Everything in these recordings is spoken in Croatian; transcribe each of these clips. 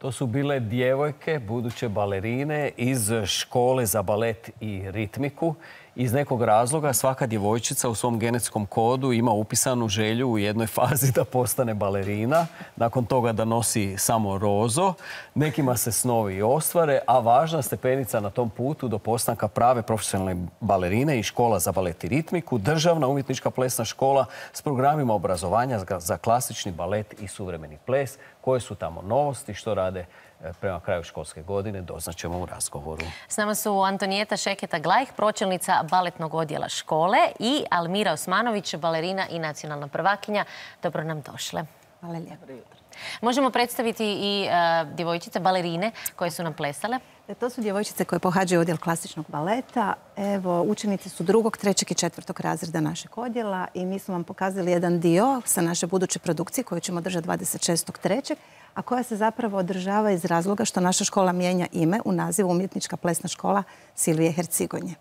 To su bile djevojke, buduće balerine iz škole za balet i ritmiku. Iz nekog razloga svaka djevojčica u svom genetskom kodu ima upisanu želju u jednoj fazi da postane balerina, nakon toga da nosi samo rozo. Nekima se snovi ostvare, a važna stepenica na tom putu do postanka prave profesionalne balerine i škola za balet i ritmiku, državna umjetnička plesna škola s programima obrazovanja za klasični balet i suvremeni ples. Koje su tamo novosti, što rade prema kraju školske godine, doznaćemo u razgovoru. S nama su Antonijeta Šeketa-Glajh, pročelnica baletnog odjela škole, i Almira Osmanović, balerina i nacionalna prvakinja. Dobro nam došle. Hvala lijepo. Možemo predstaviti i djevojčice, balerine koje su nam plesale. To su djevojčice koje pohađaju odjel klasičnog baleta. Evo, učenici su 2., 3. i 4. razreda našeg odjela i mi smo vam pokazali jedan dio sa naše buduće produkcije koju ćemo držati 26.3. a koja se zapravo održava iz razloga što naša škola mijenja ime u nazivu Umjetnička plesna škola Silvije Hercigonje.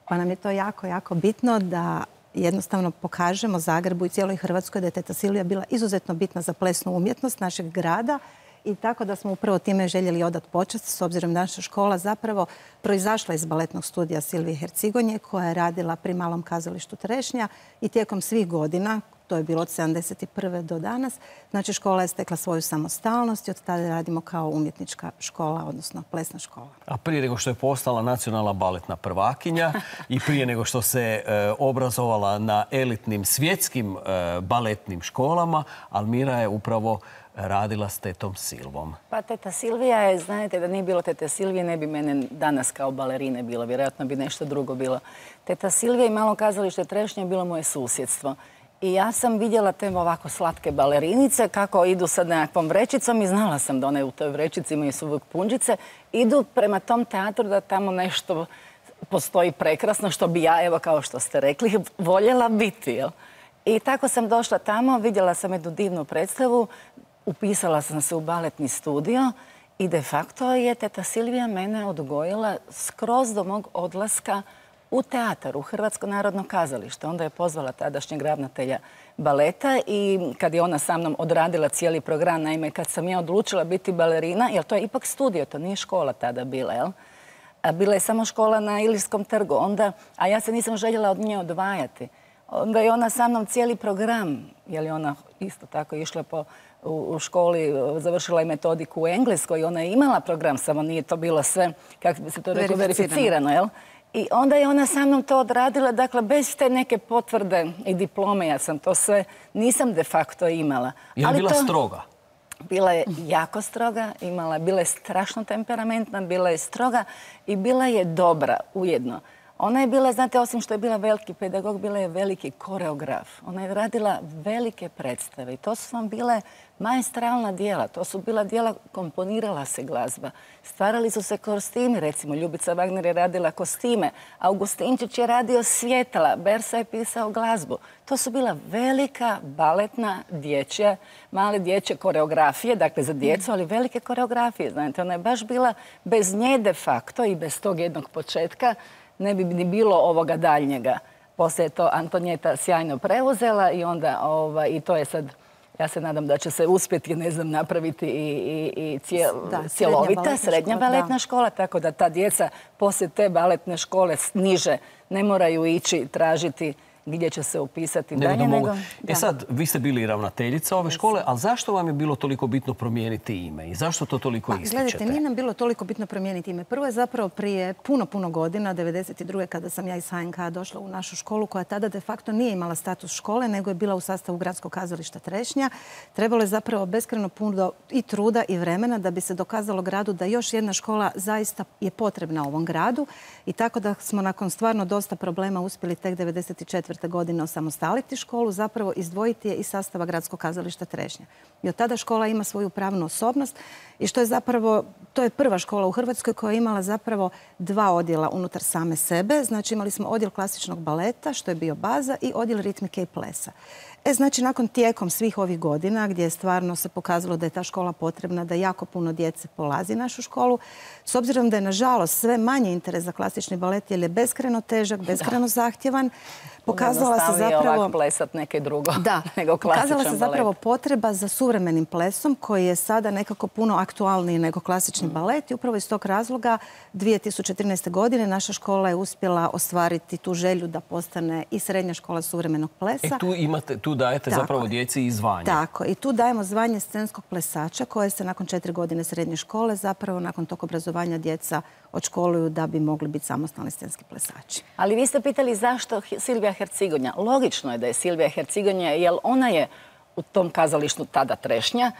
Pa nam je to jako, jako bitno da jednostavno pokažemo Zagrebu i cijeloj Hrvatskoj da je teta Silvija bila izuzetno bitna za plesnu umjetnost našeg grada. I tako da smo upravo time željeli odati počast, s obzirom da naša škola zapravo proizašla iz baletnog studija Silvije Hercigonje, koja je radila pri Malom kazalištu Trešnja i tijekom svih godina, to je bilo od 1971. do danas, znači škola je stekla svoju samostalnost i od tada radimo kao umjetnička škola, odnosno plesna škola. A prije nego što je postala nacionalna baletna prvakinja i prije nego što se obrazovala na elitnim svjetskim baletnim školama, Almira je upravo radila s tetom Silvom. Pa teta Silvija je, znate, da nije bilo tete Silvije, ne bi mene danas kao balerine bilo. Vjerojatno bi nešto drugo bilo. Teta Silvija i Malo kazalište Trešnje je bilo moje susjedstvo. I ja sam vidjela te ovako slatke balerinice kako idu sa nekakvom vrećicom i znala sam da one u toj vrećici imaju su uvijek punđice. Idu prema tom teatru da tamo nešto postoji prekrasno, što bi ja, evo kao što ste rekli, voljela biti. Jel? I tako sam došla tamo, vidjela sam jednu divnu predstavu, upisala sam se u baletni studio i de facto je teta Silvija mene odgojila skroz do mog odlaska u teatar, u Hrvatsko narodno kazalište. Onda je pozvala tadašnjeg ravnatelja baleta i kad je ona sa mnom odradila cijeli program, naime kad sam ja odlučila biti balerina, jer to je ipak studio, to nije škola tada bila, jel? Bila je samo škola na Ilirskom trgu, onda, a ja se nisam željela od nje odvajati. Onda je ona sa mnom cijeli program, jer je ona isto tako išla u školi, završila je metodiku u Engleskoj i ona je imala program, samo nije to bilo sve, kako bi se to reklo, verificirano, jel? I onda je ona sa mnom to odradila, dakle, bez te neke potvrde i diplome, ja sam to sve, nisam de facto imala. Je li bila stroga? Bila je jako stroga, bila je strašno temperamentna, bila je stroga i bila je dobra ujedno. Ona je bila, znate, osim što je bila veliki pedagog, bila je veliki koreograf. Ona je radila velike predstave i to su vam bile maestralna djela. To su bila djela, komponirala se glazba. Stvarali su se kostimi, recimo Ljubica Wagner je radila kostime, Augustinčić je radio svjetla, Bersa je pisao glazbu. To su bila velika baletna dječja, male dječje koreografije, dakle za djecu, ali velike koreografije. Znate, ona je baš bila bez nje de facto i bez tog jednog početka ne bi ni bilo ovoga daljnjega. Poslije je to Antonijeta sjajno preuzela i onda i to je sad, ja se nadam da će se uspjeti, ne znam, napraviti i cjelovita srednja baletna škola, tako da ta djeca poslije te baletne škole niže ne moraju ići tražiti gdje će se upisati dalje nego... Sad, vi ste bili ravnateljica ove škole, ali zašto vam je bilo toliko bitno promijeniti ime i zašto to toliko ističete? Gledajte, nije nam bilo toliko bitno promijeniti ime. Prvo je zapravo prije puno godina, 1992. kada sam ja iz HNK došla u našu školu, koja tada de facto nije imala status škole, nego je bila u sastavu Gradskog kazališta Trešnja. Trebalo je zapravo beskrajno puno i truda i vremena da bi se dokazalo gradu da još jedna škola zaista je potrebna ovom gradu i tako da smo nakon stvarno dosta problema uspjeli tek 1994. godine osamostaliti školu, zapravo izdvojiti je iz sastava Gradskog kazališta Trešnja. I od tada škola ima svoju pravnu osobnost i što je zapravo, to je prva škola u Hrvatskoj koja je imala zapravo 2 odjela unutar same sebe. Znači imali smo odjel klasičnog baleta, što je bio baza, i odjel ritmike i plesa. Znači, nakon tijekom svih ovih godina gdje je stvarno se pokazalo da je ta škola potrebna, da jako puno djece polazi našu školu, s obzirom da je, nažalost, sve manje interes za klasični balet jer je beskrajno težak, beskrajno zahtjevan, pokazala se zapravo... ovak plesat neke drugo nego klasičan balet. Pokazala se zapravo potreba za suvremenim plesom koji je sada nekako puno aktualniji nego klasični balet i upravo iz tog razloga 2013. godine naša škola je uspjela ostvariti tu želju da postane i srednja škola suvremenog plesa. Tu dajete zapravo djeci i zvanje. Tako, i tu dajemo zvanje scenskog plesača koje se nakon 4 godine srednje škole zapravo nakon tog obrazovanja djeca odškoluju da bi mogli biti samostalni scenski plesači. Ali vi ste pitali zašto Silvija Hercigonja. Logično je da je Silvija Hercigonja, jer ona je u tom kazalištu tada Trešnja,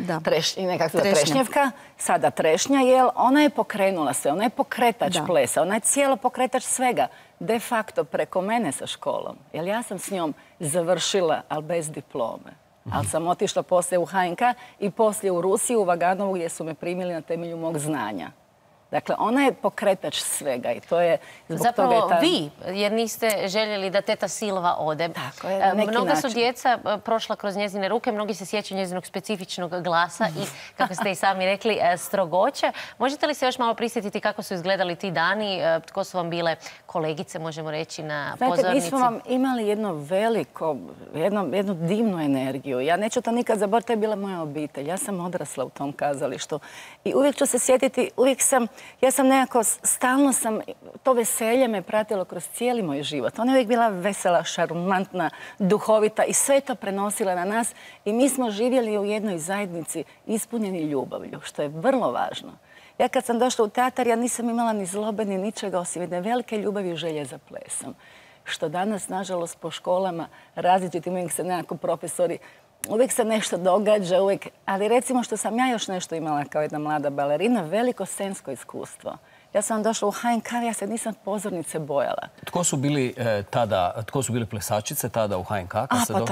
Trešnjevka, sada Trešnja, jer ona je pokrenula se, ona je pokretač plesa, ona je cijelo pokretač svega. De facto preko mene sa školom, jer ja sam s njom završila, ali bez diplome. Ali sam otišla poslije u HNK i poslije u Rusiju, u Vaganovu, gdje su me primili na temelju mog znanja. Dakle, ona je pokretač svega i to je... Zapravo vi, jer niste željeli da teta Silva ode. Tako je, na neki način. Mnoga su djeca prošla kroz njezine ruke, mnogi se sjećaju njezinog specifičnog glasa i, kako ste i sami rekli, strogoće. Možete li se još malo prisjetiti kako su izgledali ti dani? Tko su vam bile kolegice, možemo reći, na pozornici? Znate, mi smo vam imali jednu divnu energiju. Ja neću to nikad zaboraviti, to je bila moja obitelj. Ja sam odrasla u tom kazalištu i uvijek ću se sjetiti, ja sam nekako, stalno sam, to veselje me pratilo kroz cijeli moj život. Ona je uvijek bila vesela, šarmantna, duhovita i sve to prenosila na nas i mi smo živjeli u jednoj zajednici ispunjeni ljubavlju, što je vrlo važno. Ja kad sam došla u teatar, ja nisam imala ni zlobe, ni ničega osim jedne velike ljubavi i želje za plesom. Što danas, nažalost, po školama različitim, uvijek se nekako profesori, uvijek se nešto događa, ali recimo što sam ja još nešto imala kao jedna mlada balerina, veliko scensko iskustvo. Ja sam došla u HNK, ja se nisam pozornice bojala. Tko su bili plesačice tada u HNK? Pa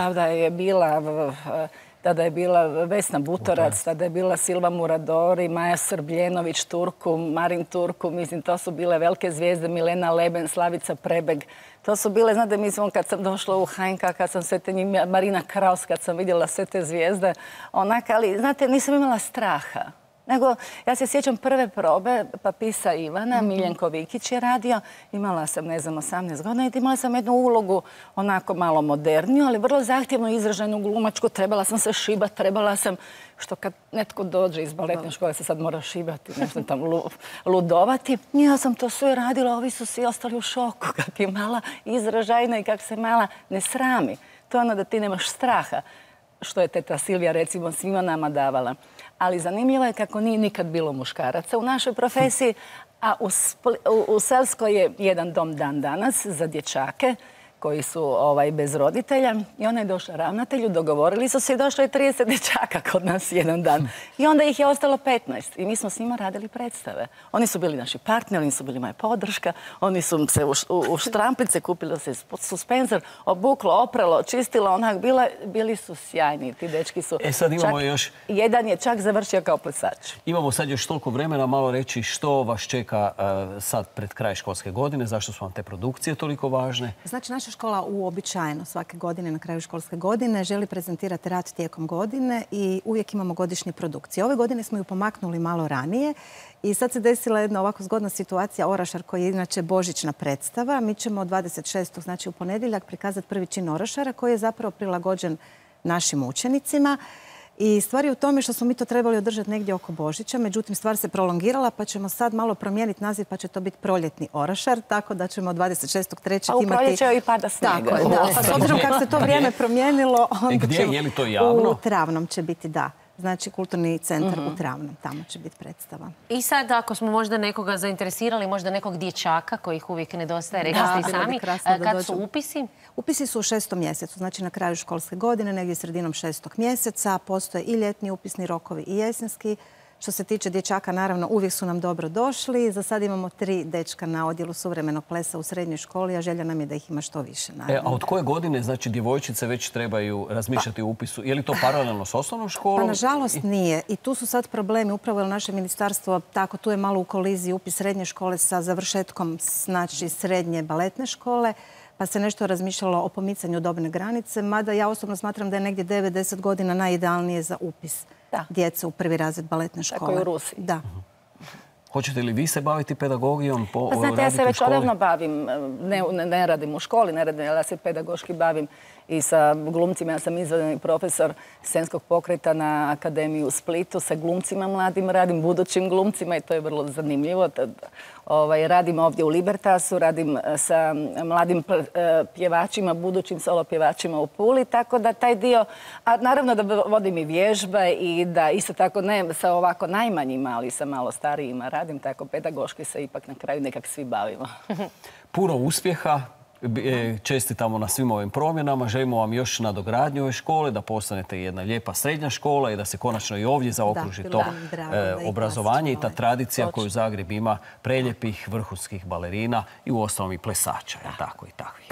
tada je bila Vesna Butorac, tada je bila Silva Muradori, Maja Srbljenović, Turku, Marin Turku, mislim, to su bile velike zvijezde, Milena Leben, Slavica Prebeg. To su bile, znate, mislim, kad sam došla u HNK, kad sam sve te njih, Marina Kraus, kad sam vidjela sve te zvijezde, ali, znate, nisam imala straha. Nego, ja se sjećam prve probe Papisa Ivana, Miljenko Vikić je radio, imala sam, 18 godina i imala sam jednu ulogu onako malo moderniju, ali vrlo zahtjevno izraženu glumačku, trebala sam se šibati, trebala sam, što kad netko dođe iz baletne škole se sad mora šibati, nešto tam ludovati. Ja sam to sve radila, ovi su svi ostali u šoku, kak je mala izražajna i kak se mala ne srami. To je ono da ti nemaš straha, što je teta Silvija recimo svima nama davala. Ali zanimljivo je kako nije nikad bilo muškaraca u našoj profesiji, a u Selskoj je jedan dom dan danas za dječake koji su bez roditelja i ona je došla ravnatelju, dogovorili su se i došlo je 30 dječaka kod nas jedan dan. I onda ih je ostalo 15 i mi smo s njima radili predstave. Oni su bili naši partneri, oni su bili moja podrška, oni su se u štrampice kupili se suspenzor, obuklo, opralo, čistilo, onak, bili su sjajni, ti dečki su. Sad imamo još... Jedan je čak završio kao plesač. Imamo sad još toliko vremena malo reći što vas čeka sad pred kraj školske godine, zašto su vam te produkcije toliko važne? Znači, naša škola uobičajeno svake godine na kraju školske godine želi prezentirati rad tijekom godine i uvijek imamo godišnje produkcije. Ove godine smo ju pomaknuli malo ranije i sad se desila jedna ovako zgodna situacija. Orašar koji je inače božićna predstava. Mi ćemo od 26. znači u ponedjeljak prikazati prvi čin Orašara koji je zapravo prilagođen našim učenicima. I stvar je u tome što smo mi to trebali održati negdje oko Božića, međutim stvar se prolongirala pa ćemo sad malo promijeniti naziv pa će to biti proljetni Orašar, tako da ćemo 26.3. imati... A u proljeće i pada snijega. Tako je, da. Pa s obzirom kako se to vrijeme promijenilo, onda gdje? Je li to javno? U Travnom će biti, da. Znači, kulturni centar u Travnom, tamo će biti predstava. I sad, ako smo možda nekoga zainteresirali, možda nekog dječaka kojih uvijek nedostaje, rekli ste i sami, kad su upisi? Upisi su u 6. mjesecu, znači na kraju školske godine, negdje sredinom 6. mjeseca. Postoje i ljetni upisni rokovi i jesenski. Što se tiče dječaka, naravno, uvijek su nam dobro došli. Za sad imamo 3 dečka na odjelu suvremenog plesa u srednjoj školi, a želja nam je da ih ima što više. A od koje godine, znači, djevojčice već trebaju razmišljati o upisu? Je li to paralelno s osnovnom školom? Pa, nažalost, nije. I tu su sad problemi. Upravo je naše ministarstvo, tako, tu je malo u koliziji upis srednje škole sa završetkom, znači, srednje baletne škole, pa se nešto razmišljalo o pomicanju dobne granice, mada ja osobno smatram da je negdje 9-10 godina najidealnije za upis djece u prvi razred baletne škole. Tako je u Rusiji. Da. Hoćete li vi se baviti pedagogijom? Pa znate, ja se već odavno bavim, ne radim u školi, ne radim, ja se pedagoški bavim i sa glumcima. Ja sam izvanredni profesor scenskog pokreta na Akademiji u Splitu. Sa glumcima mladim radim, budućim glumcima i to je vrlo zanimljivo. Radim ovdje u Libertasu, radim sa mladim pjevačima, budućim solo pjevačima u Puli, tako da taj dio, a naravno da vodim i vježbe i da isto tako ne sa ovako najmanjima, ali sa malo starijima radim, tako pedagoški se ipak na kraju nekak svi bavimo. Puno uspjeha. Čestitamo na svim ovim promjenama. Želimo vam još nadogradnju ove škole, da postanete jedna lijepa srednja škola i da se konačno i ovdje zaokruži to obrazovanje i ta tradicija koju Zagreb ima preljepih vrhunskih balerina i uostalom i plesača. Tako i takvih.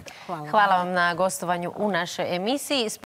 Hvala vam na gostovanju u našoj emisiji.